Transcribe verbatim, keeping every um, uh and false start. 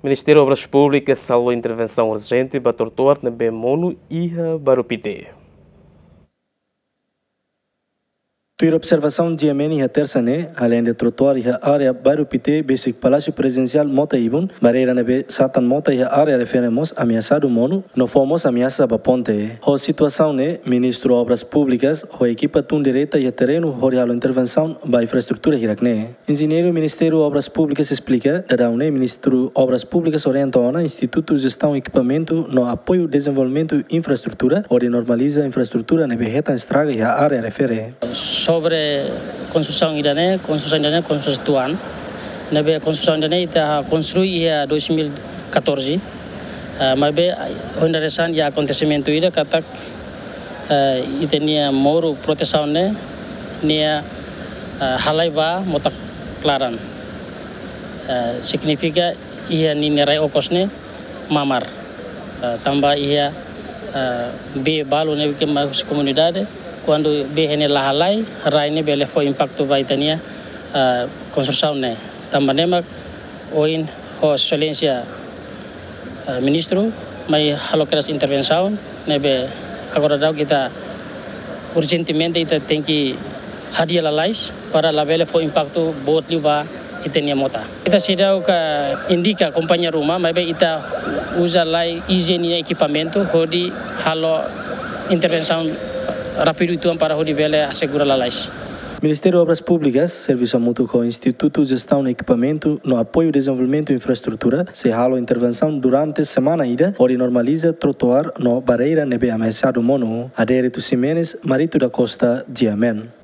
Ministériu Obras Públikas hala'o intervensaun urjente ba trotoar ne'ebé monu iha Bairru Pité. Tuir observasaun GMN iha Tersa ne'e, aleinde trotoar iha área Bairru Pité besik Palásiu Prezidensiál mota ibun, barreira ne'ebé satan mota iha área refere mós ameasadu monu, no fó mós ameasa ba ponte. Ho situasaun ne'e, Ministru Obras Públikas ho ekipa tun direta iha terrenu hodi halo intervensaun ba infraestrutura hirak ne'e. Enjeñeiru Ministériu Obras Públikas esplika, daudaun ne'e Ministru Obras Públikas orienta ona Institutu Jestaun Ekipamentu no Apoiu Dezenvolvimentu Infraestrutura hodi normaliza infraestrutura ne'ebé hetan estraga iha área refere. Sobre konstrusaun ida-ne'e, konstrusaun ida-ne'e konstrusaun tuan. Ne'ebé konstrusaun ida-ne'e ita konstrui iha dois mil e catorze. Ah, maibé, ah, ohin dadeer-saan iha akontesimentu ida katak, eh, ita-nia moru protesaun ne'e, nia, eh, halai ba mota klaran. Eh, signifika iha ninia rai okos ne'e mamar. Eh, tanba iha, eh, bee balu ne'ebé mai husi komunidade, kuandu bee ne'e la halai, rai ne'e bele fó impaktu ba ita-nia, eh, konstrusaun ne'e. Tanba ne'e mak ohin ho Exelénsia, eh, Ministru mai halo kedas intervensaun ne'ebé agora daudaun ita urjentemente ita tenke hadi'a lalais para labele fó impaktu boot liu ba ita-nia mota. Ita seidauk indika kompañia ruma, maibé ita uza lai I G nia ekipamentu hodi halo intervensaun rápidu uitoan para hodi bele asegura lalais. Ministériu Obras Públikas, servisu hamutuk ho Institutu Jestaun Ekipamentu no Apoiu Dezenvolvimentu Infraestrutura, sei halo intervensaun durante semana ida, hodi normaliza trotoar no barreira ne'ebé ameasadu monu. Adérito Ximenes, Marito da Costa, GMN.